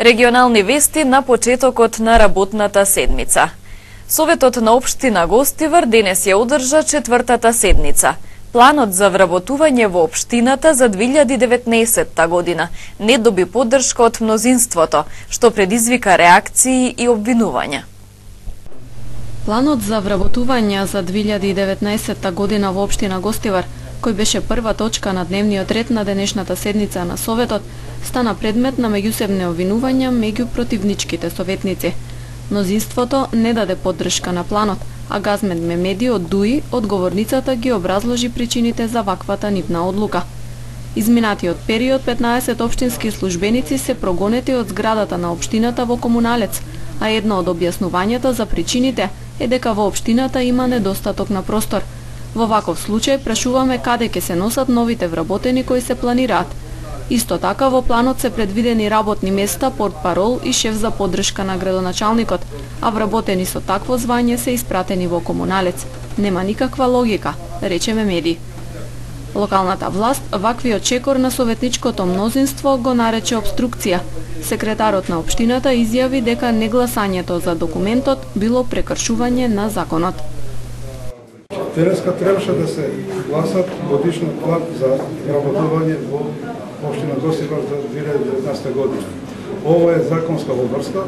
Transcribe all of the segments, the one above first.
Регионални вести на почетокот на работната седмица. Советот на општина Гостивар денес ја одржа четвртата седница. Планот за вработување во општината за 2019 година не доби поддршка од мнозинството, што предизвика реакции и обвинувања. Планот за вработување за 2019 година во општина Гостивар, кој беше прва точка на дневниот ред на денешната седница на Советот, стана предмет на меѓусебни обвинувања меѓу противничките советници. Мнозинството не даде поддршка на планот, а Газмед Мемеди од ДУИ, одговорницата, ги образложи причините за ваквата нивна одлука. Изминатиот период 15 општински службеници се прогонети од зградата на општината во Комуналец, а едно од објаснувањата за причините е дека во општината има недостаток на простор. Во ваков случај прашуваме каде ќе се носат новите вработени кои се планираат. Исто така во планот се предвидени работни места, портпарол и шеф за поддршка на градоначалникот, а вработени со такво звање се испратени во Комуналец. Нема никаква логика, рече Мемеди. Локалната власт ваквиот чекор на советничкото мнозинство го нарече обструкција. Секретарот на општината изјави дека негласањето за документот било прекршување на законот. Денеска требаше да се гласат годишниот план за вработување во општина Гостивар за 2019 година. Ова е законска обврска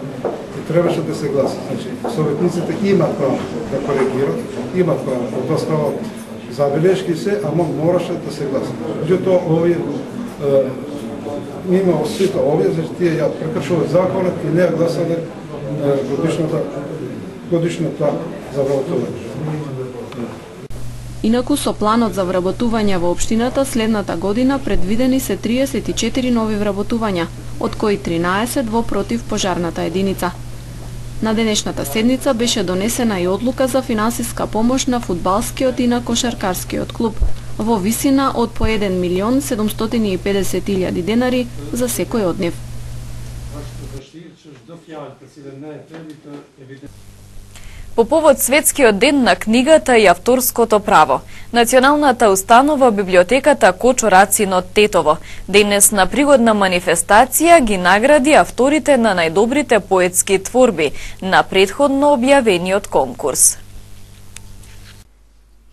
и требаше да се гласа. Значи, советниците имаат право да коригираат, имаат право да достават забелешки се, ама мораше да се гласа. Меѓутоа, овие мимо сите овие, значи тие ја прекршуваат законот и не ја гласале годишниот план за вработување. Инаку со планот за вработување во општината следната година предвидени се 34 нови вработувања, од кои 13 во противпожарната единица. На денешната седница беше донесена и одлука за финансиска помош на фудбалскиот и на кошаркарскиот клуб во висина од по 1.750.000 денари за секој од нив. По повод Светскиот ден на книгата и авторското право, Националната установа библиотеката Кочо Рацин од Тетово денес на пригодна манифестација ги награди авторите на најдобрите поетски творби на претходно објавениот конкурс.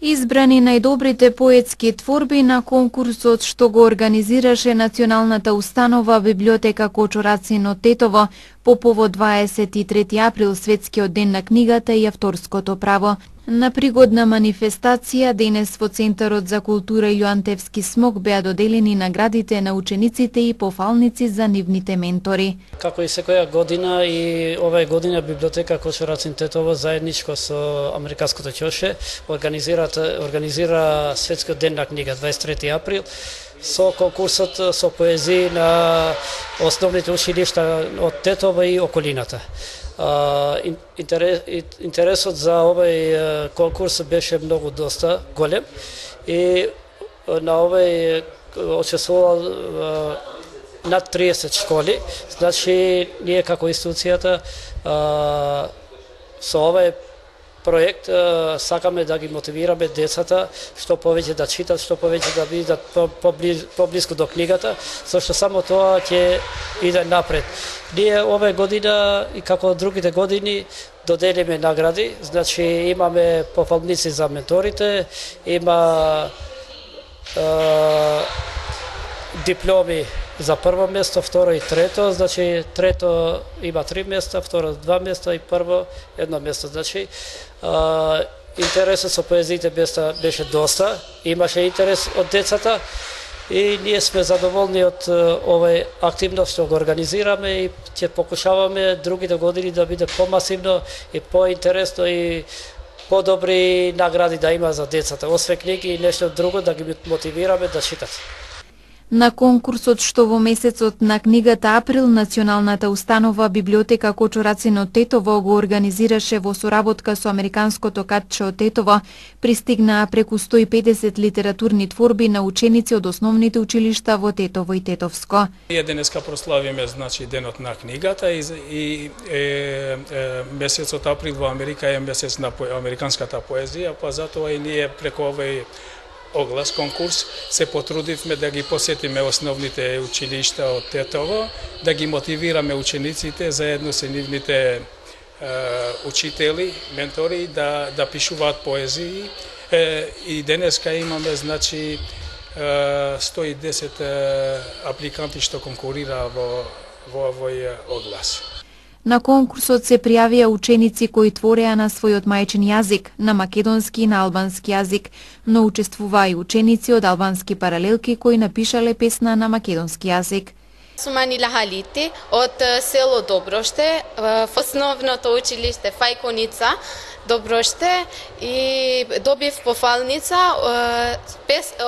Избрани најдобрите поетски творби на конкурсот што го организираше Националната установа библиотека Кочо Рацин од Тетово по повод 23 април Светскиот ден на книгата и авторското право. На пригодна манифестација денес во Центарот за култура Илјоантевски смок беа доделени наградите на учениците и пофалници за нивните ментори. Како и секоја година и оваа година библиотека Кочо Рацин Тетово заедничко со Американското ќоше организира Светскиот ден на книга 23 април со конкурсот со поезии на основните училишта од Тетово и околината. Интересот за овој конкурс беше многу доста голем и на овој учествувал над 30 школи. Значи, ние како институцијата со овој проект сакаме да ги мотивираме децата што повеќе да читат, што повеќе да бидат поблиску до книгата, зашто само тоа ќе иде напред. Ние оваа година и како другите години доделиме награди, значи имаме пофалници за менторите, има дипломи за прво место, второ и трето, значи трето има 3 места, второ 2 места и прво 1 место. Значи интересот со поезиите беше доста, имаше интерес од децата и ние сме задоволни од овој активност што го организираме и ќе покушаваме другите години да биде помасивно и поинтересно и подобри награди да има за децата, освен книги и нешто друго да ги мотивираме да читат. На конкурсот што во месецот на книгата април Националната установа библиотека Кочо Рацин од Тетово го организираше во соработка со Американското катче од Тетово, пристигнаа преку 150 литературни творби на ученици од основните училишта во Тетово и Тетовско. Ние денеска прославиме значи денот на книгата и месецот април во Америка е месец на американската поезија, па затоа и ние преку овој оглас, конкурс, се потрудивме да ги посетиме основните училишта од Тетово, да ги мотивираме учениците заедно со нивните учители, ментори да пишуваат поезии. И денеска имаме, значи, 110 апликанти што конкурира во овој оглас. На конкурсот се пријавија ученици кои твореа на својот мајчин јазик, на македонски и на албански јазик, но учествуваа и ученици од албански паралелки кои напишале песна на македонски јазик. Сум Анила Халити од село Доброште, в основното училиште Фајконица, Доброште, и добив пофалница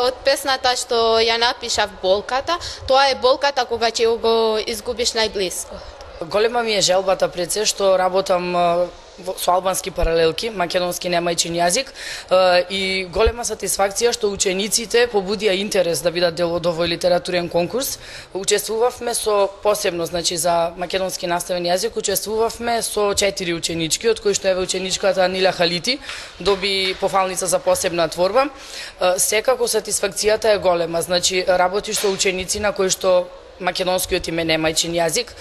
од песната што ја напишав Болката. Тоа е болката кога ќе го изгубиш најблиско. Голема ми е желбата пред се што работам со албански паралелки, македонски немајчин јазик, и голема сатисфакција што учениците побудија интерес да бидат дел од овој литературен конкурс. Учествувавме со посебно, значи за македонски наставен јазик, учествувавме со 4 ученички, од кои што еве ученичката Анила Халити доби пофалница за посебна творба. Секако сатисфакцијата е голема, значи работиш со ученици на кои што македонскиот им е немајчин јазик,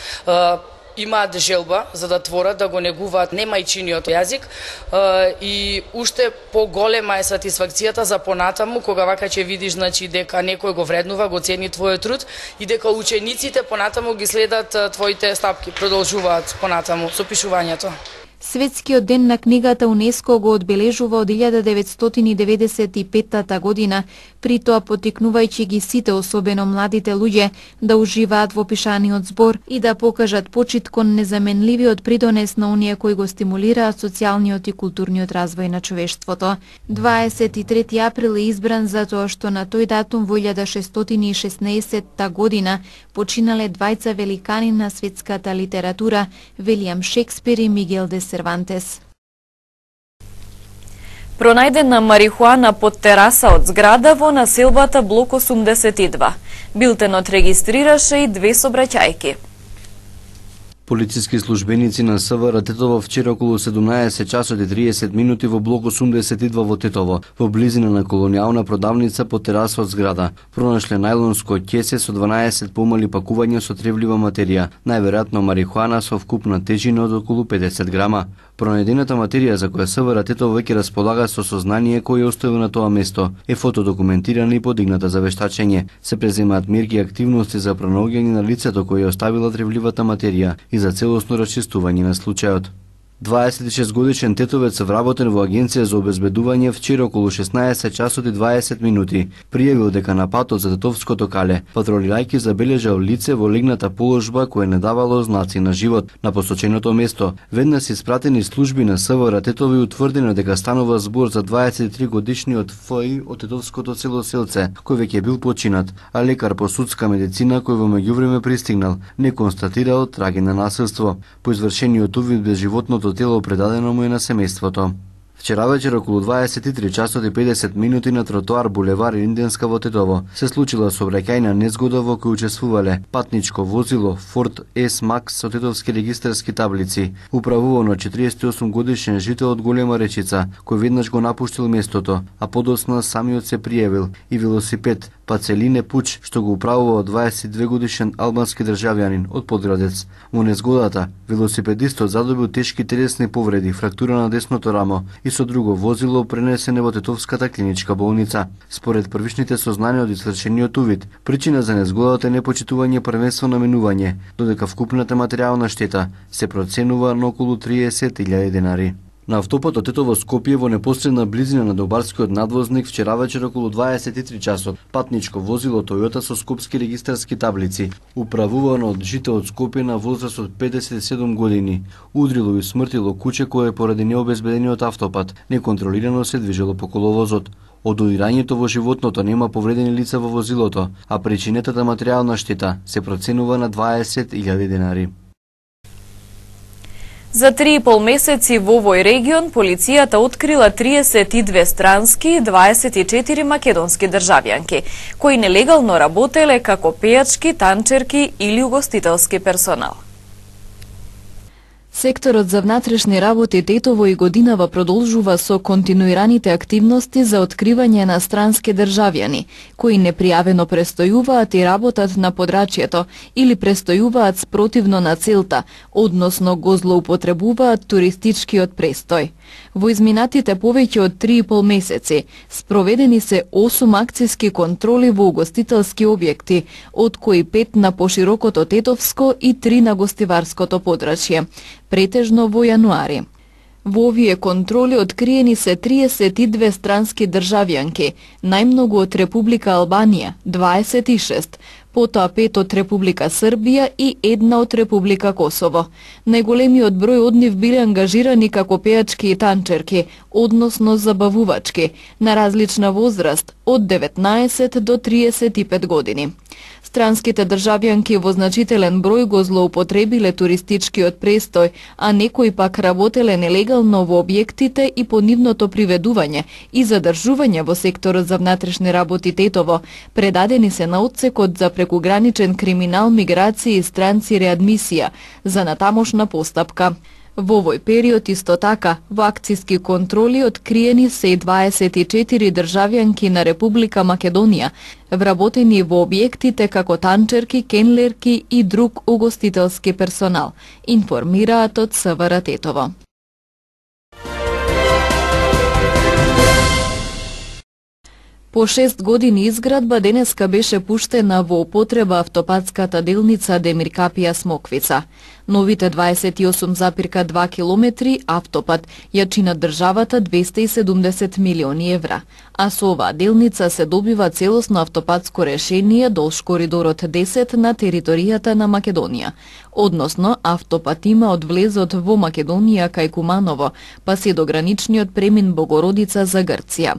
имаат желба за да творат, да го негуваат немајчиниот јазик, и уште поголема е сатисфакцијата за понатаму кога вака ќе видиш, значи, дека некој го вреднува, го цени твојот труд и дека учениците понатаму ги следат твоите стапки, продолжуваат понатаму со пишувањето. Светскиот ден на книгата УНЕСКО го одбележува од 1995 година, при тоа поттикнувајќи ги сите, особено младите луѓе, да уживаат во пишаниот збор и да покажат почит кон незаменливиот придонес на оние кои го стимулираат социјалниот и културниот развој на човештвото. 23 април е избран затоа што на тој датум во 1616 година починале двајца великани на светската литература, Вилијам Шекспир и Мигел де Сервантес. Пронајдена марихуана под тераса од зграда во населбата блок 82. Билтенот регистрираше и 2 сообраќајки. Полициски службеници на СВР Тетово вчера околу 17 часот и 30 минути во блок 82 во Тетово, во близина на колонијална продавница под тераса од зграда, пронашле најлонско ќесе со 12 помали пакувања со тревлива материја, најверојатно марихуана со вкупна тежина од околу 50 грама. Пронајдената материја за која СВР Тетово веќе располага со сознание кој оставил на тоа место е фотодокументирана и подигната за вештачење. Се преземаат мерки и активности за пронаоѓање на лицето кој оставила тревливата материја и за целосно расчистување на случајот. 26 годишен тетовец вработен во Агенција за обезбедување вчера околу 16 часот и 20 минути пријавил дека на патот за Тетовското кале патролирајќи забележал лице во легната положба кое не давало знаци на живот на посоченото место. Веднаш испратени служби на СВР Тетово и утврдено дека станува збор за 23 годишниот ФИ од Тетовското село Селце, кој веќе бил починат, а лекар по судска медицина кој во меѓувреме пристигнал не констатирал траги на насилство. По извршениот увид без животното тело предадено му е на семејството. Вчера вечер околу 23 часот и 50 минути на тротоар булевар Инденска во Тетово се случила сообраќајна незгода во која учествувале патничко возило Ford S-Max со тетовски регистарски таблици, управувано 48 годишен жител од Голема Речица, кој веднаш го напуштил местото, а подоцна самиот се пријавил, и велосипед Пацелине Пуч, што го управува 22 годишен албански државјанин од Подградец. Во незгодата, велосипедистот задобил тешки телесни повреди, фрактура на десното рамо и со друго возило пренесене во Тетовската клиничка болница. Според првичните сознанија од извршениот увид, причина за незгодата е непочитување првенство на менување, додека вкупната материјална штета се проценува на околу 30.000 денари. На автопатот Тетово Скопје во непосредна близина на Добарскиот надвозник вчера вечер околу 23 часот патничко возило Тојота со скопски регистарски таблици, управувано од жител од Скопје на возраст од 57 години, удрило и смртило куче кое поради необезбедениот автопат неконтролирано се движело по коловозот. Од уирањето во животното нема повредени лица во возилото, а причинетата материјална штета се проценува на 20.000 денари. За 3,5 месеци во овој регион полицијата открила 32 странски и 24 македонски државјанки, кои нелегално работеле како пејачки, танчерки или угостителски персонал. Секторот за внатрешни работи Тетово и годинава продолжува со континуираните активности за откривање на странски државјани, кои непријавено престојуваат и работат на подрачјето или престојуваат спротивно на целта, односно го злоупотребуваат туристичкиот престој. Во изминатите повеќе од 3,5 месеци спроведени се 8 акциски контроли во угостителски објекти, од кои 5 на поширокото Тетовско и 3 на гостиварското подрачје, претежно во јануари. Во овие контроли откриени се 32 странски државјанки, најмногу од Република Албанија, 26, потоа 5 од Република Србија и 1 од Република Косово. Најголемиот број од нив биле ангажирани како пејачки и танчерки, односно забавувачки, на различна возраст, од 19 до 35 години. Странските државјанки во значителен број го злоупотребиле туристичкиот престој, а некои пак работеле нелегално во објектите и по нивното приведување и задржување во секторот за внатрешни работи Тетово, предадени се на отсекот за прекуграничен криминал, миграција и странци реадмисија за натамошна постапка. Во овој период исто така, во акциски контроли откриени се и 24 државјанки на Република Македонија, вработени во објектите како танчерки, кенлерки и друг угостителски персонал, информираат од СВР Тетово. По 6 години изградба денеска беше пуштена во употреба автопатската делница Демир Капија Смоквица. Новите 28,2 километри автопат ја чинат државата 270 милиони евра, а со оваа делница се добива целосно автопатско решение долж коридорот 10 на територијата на Македонија. Односно, автопат има од влезот во Македонија кај Куманово, па се до граничниот премин Богородица за Грција.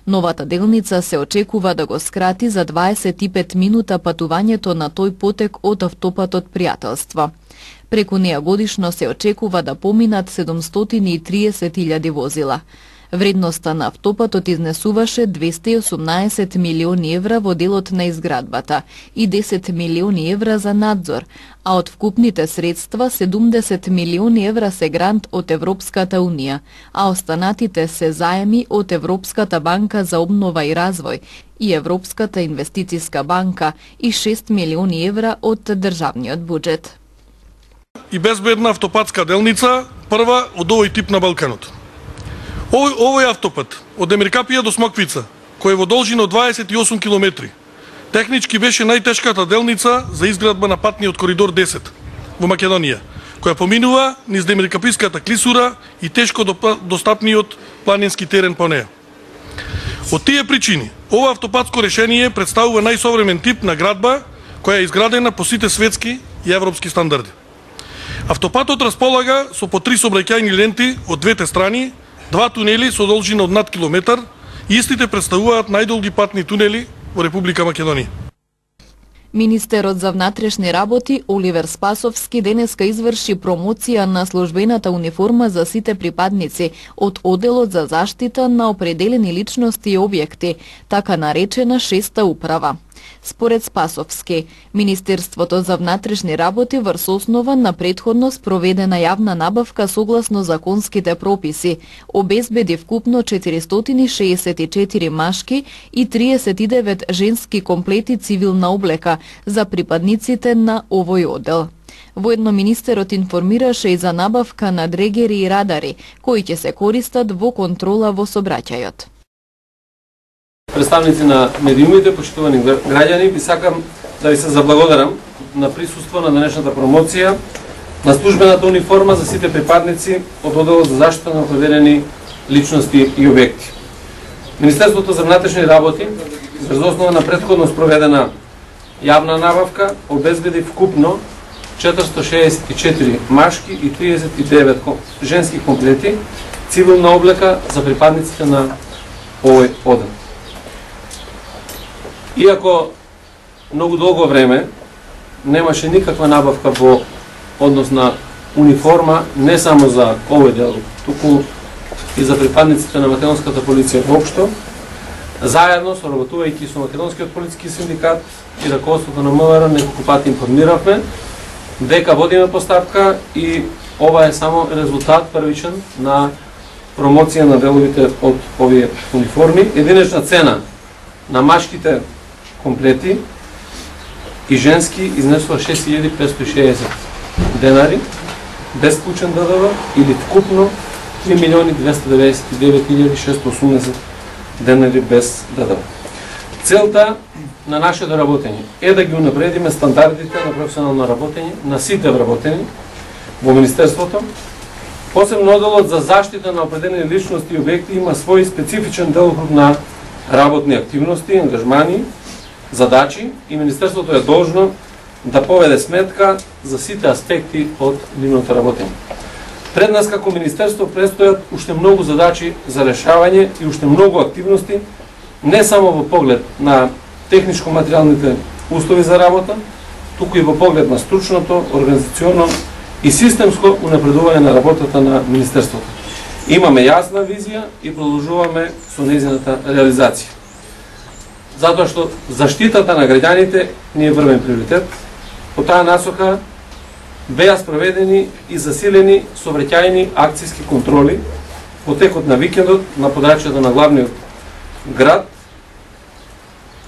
Новата делница се очекува да го скрати за 25 минута патувањето на тој потек од автопатот Пријателство. Преку неа годишно се очекува да поминат 730.000 возила. Вредноста на автопатот изнесуваше 218 милиони евра во делот на изградбата и 10 милиони евра за надзор, а од вкупните средства 70 милиони евра се грант од Европската Унија, а останатите се заеми од Европската банка за обнова и развој и Европската инвестициска банка и 6 милиони евра од државниот буџет. И безбедна автопатска делница, прва од овој тип на Балканот. Овој автопат од Демир Капија до Смоквица, кој е во должина од 28 километри, технички беше најтешката делница за изградба на патниот коридор 10 во Македонија, која поминува низ Демиркаписката клисура и тешко достапниот планински терен по неја. Од тие причини, ова автопатско решение представува најсовремен тип на градба која е изградена по сите светски и европски стандарди. Автопатот располага со по 3 сообраќајни ленти од двете страни, 2 тунели со должина од над километар и истите представуваат најдолги патни тунели во Република Македонија. Министерот за внатрешни работи Оливер Спасовски денеска изврши промоција на службената униформа за сите припадници од Оделот за заштита на определени личности и објекти, така наречена 6-та управа. Според Спасовски, Министерството за внатрешни работи врз основа на претходно спроведена јавна набавка согласно законските прописи, обезбеди вкупно 464 машки и 39 женски комплети цивилна облека за припадниците на овој одел. Воедно министерот информираше и за набавка на дрегери и радари, кои ќе се користат во контрола во сообраќајот. Представници на медиумите, почитувани граѓани, би сакам да ви се заблагодарам на присуство на денешната промоција на службената униформа за сите припадници од Оделот за заштита на определени личности и објекти. Министерството за внатрешни работи, врз основа на претходно спроведена јавна набавка, обезбеди вкупно 464 машки и 39 женски комплети цивилна облека за припадниците на овој одел. Иако многу долго време немаше никаква набавка во однос на униформа, не само за овој дел, туку и за припадниците на македонската полиција воопшто, заедно соработувајќи со македонскиот полициски синдикат и раководството на МВР неколку пати информиравме дека водиме постапка и ова е само резултат првичен на промоција на деловите од овие униформи. Единечна цена на машките комплети и женски изнесува 6560 денари, без вклучен ДДВ, или вкупно 3.299.680 денари без ДДВ. Целта на нашето работење е да ги унапредиме стандардите на професионално работење на сите вработени во Министерството. Посебно одделот за заштита на определени личности и објекти има свој специфичен делокруг на работни активности, ангажмани, задачи и Министерството е должно да поведе сметка за сите аспекти од нивното работење. Пред нас како Министерство престојат уште многу задачи за решавање и уште многу активности, не само во поглед на техничко-материјалните услови за работа, туку и во поглед на стручното, организационно и системско унапредување на работата на Министерството. Имаме јасна визија и продолжуваме со нејзината реализација. Затоа што заштитата на граѓаните ни е врвен приоритет. По таа насока беа спроведени и засилени сообраќајни акцијски контроли во текот на викендот на подрачјето на главниот град.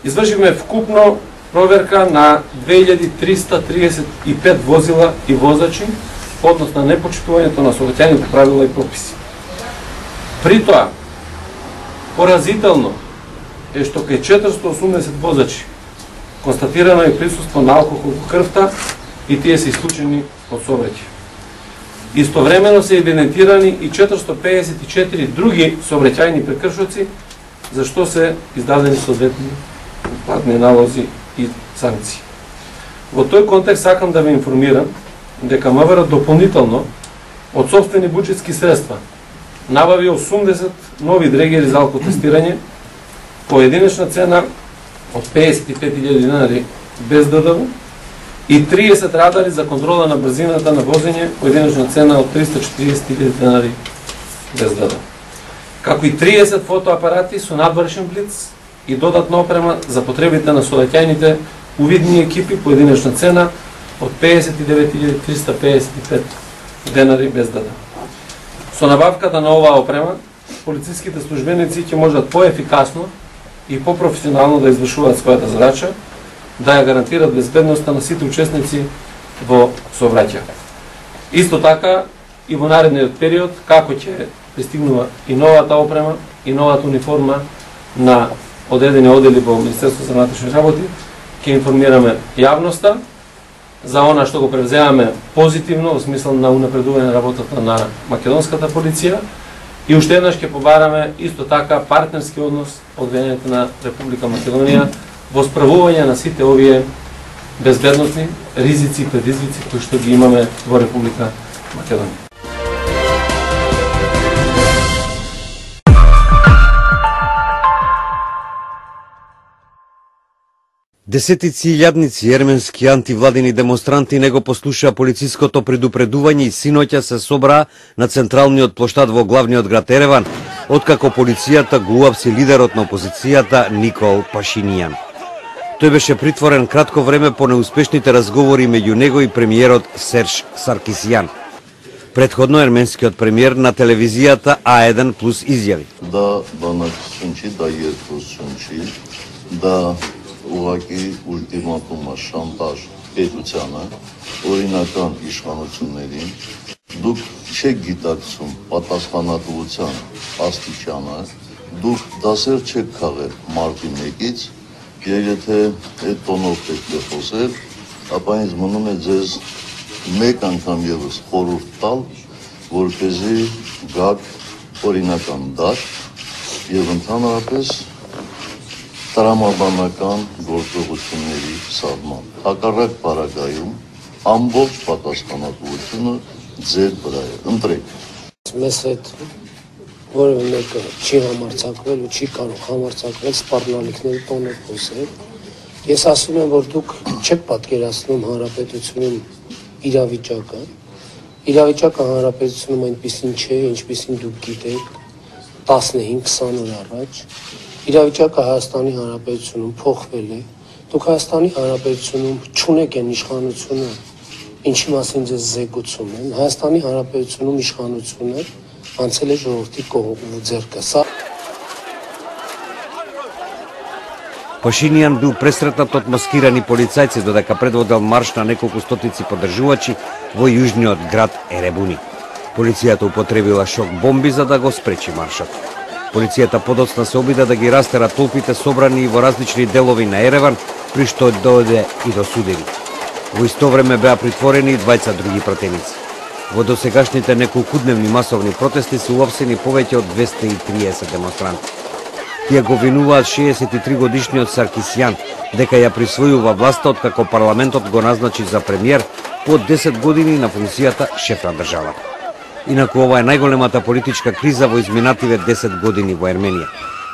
Извршивме вкупно проверка на 2335 возила и возачи, односно непочитувањето на сообраќајните правила и прописи. При тоа, поразително е што кај 480 возачи констатирано е присуство на алкохол во крвта и тие се исклучени од сообраќај. Истовремено се евидентирани и 454 други сообраќајни прекршоци, за што се издадени соодветни платни налози и санкции. Во тој контекст сакам да ве информирам дека МВР дополнително од сопствени буџетски средства набави 80 нови дрегери за алкотестирање по единечна цена од 55.000 денари без ДДВ и 30 радари за контрола на брзината на возење по единечна цена од 340.000 денари без ДДВ. Како и 30 фотоапарати со надвршен блиц и додатна опрема за потребите на сообраќајните увидни екипи по единечна цена од 59.355 денари без ДДВ. Со набавката на оваа опрема, полициските службеници ќе можат поефикасно и попрофесионално да извршуваат својата задача, да ја гарантират безбедноста на сите учесници во сообраќај. Исто така и во наредниот период, како ќе пристигнува и новата опрема и новата униформа на одредени оддели во Министерството за внатрешни работи, ќе информираме јавноста за она што го превземаме позитивно во смисла на унапредување на работата на македонската полиција и уште еднаш ќе побараме исто така партнерски однос од влијанието на Република Македонија во справување на сите овие безбедносни ризици и предизвици кои што ги имаме во Република Македонија. Десетици илјадници ерменски антивладини демонстранти не го послушаа полициското предупредување и синоќа се собраа на централниот плоштад во главниот град Ереван, откако полицијата го уапси лидерот на опозицијата Никол Пашинијан. Тој беше притворен кратко време по неуспешните разговори меѓу него и премиерот Серж Саркисјан. Предходно ерменскиот премиер на телевизијата А1 плюс изјави: Да банаксунчи, да երկուսունչի, да ուղղակի ուլտիմատումը շանտաժ պետությանը, օրինական իշխանություններին, դուք չեք գիտակցում պատասխանատվության աստիճանը, դուք դասեր չեք քաղել մարտի 1-ից, եւ եթե այդ տոնով պետք է խոսել, ապա ինձ մնում է ձեզ մեկ անգամ եւս խորհուրդ տալ, որպեսզի գաք օրինական դաշտ եւ ընդհանրապես տրամաբանական գործողությունների սահման։ Հակառակ պարագայում ամբողջ պատասխանատվությունը ձեր վրա է։ Ընտրեք։ Մեզ հետ որևէ մեկը չի համարձակվել ու չի կարող համարձակվել սպառնալիքների տոնով խոսել։ Ես ասում եմ, որ դուք չեք պատկերացնում հանրապետությունում իրավիճակը։ Իրավիճակը հանրապետությունում այնպեսին չէ, ինչպեսին դուք գիտեք 15-20 օր առաջ։ Իրավիճակը Հայաստանի Հանրապետությունում փոխվել է։ Դուք Հայաստանի Հանրապետությունում չունեք այն իշխանությունը ինչի մասին ձեզ զեկուցում եմ, Հայաստանի Հանրապետությունում իշխանությունը անցել է ժողովրդի կողմով ձեռքը։ Սա Пашинијан бил пресретнат од маскирани полицајци додека предводел марш на неколку стотици поддржувачи во јужниот град Еребуни. Полицијата употребила шок бомби за да го спречи маршот. Полицијата подоцна се обида да ги растера толпите собрани во различни делови на Ереван, при што дојде и до судеви. Во исто време беа притворени и двајца други пратеници. Во досегашните неколкудневни масовни протести се уапсени повеќе од 230 демонстранти. Тие го винуваат 63 годишниот Саркисјан дека ја присвојува власта откако парламентот го назначи за премиер по 10 години на функцијата шеф на државата. Инаку ова е најголемата политичка криза во изминативе 10 години во Ерменија.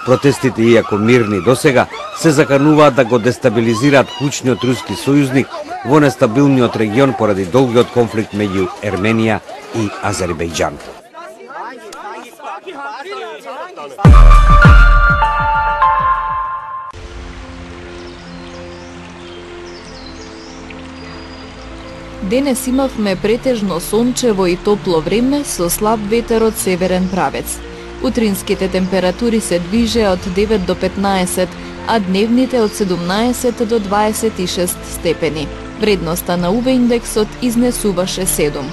Протестите, иако мирни досега, се закануваат да го дестабилизираат клучниот руски сојузник во нестабилниот регион поради долгиот конфликт меѓу Ерменија и Азербејџан. Денес имавме претежно сончево и топло време со слаб ветер од северен правец. Утринските температури се движеа од 9 до 15, а дневните од 17 до 26 степени. Вредноста на UV индексот изнесуваше 7.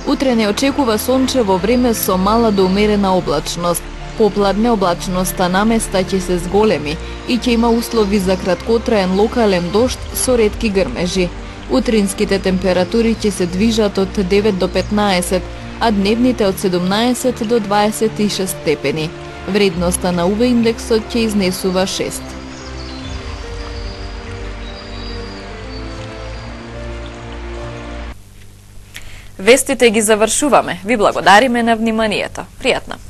Утре не очекува сончево време со мала до умерена облачност. Попладне облачноста наместа ќе се зголеми и ќе има услови за краткотраен локален дожд со ретки грмежи. Утринските температури ќе се движат од 9 до 15, а дневните од 17 до 26 степени. Вредноста на UV индексот ќе изнесува 6. Вестите ги завршуваме. Ви благодариме на вниманието. Пријатно.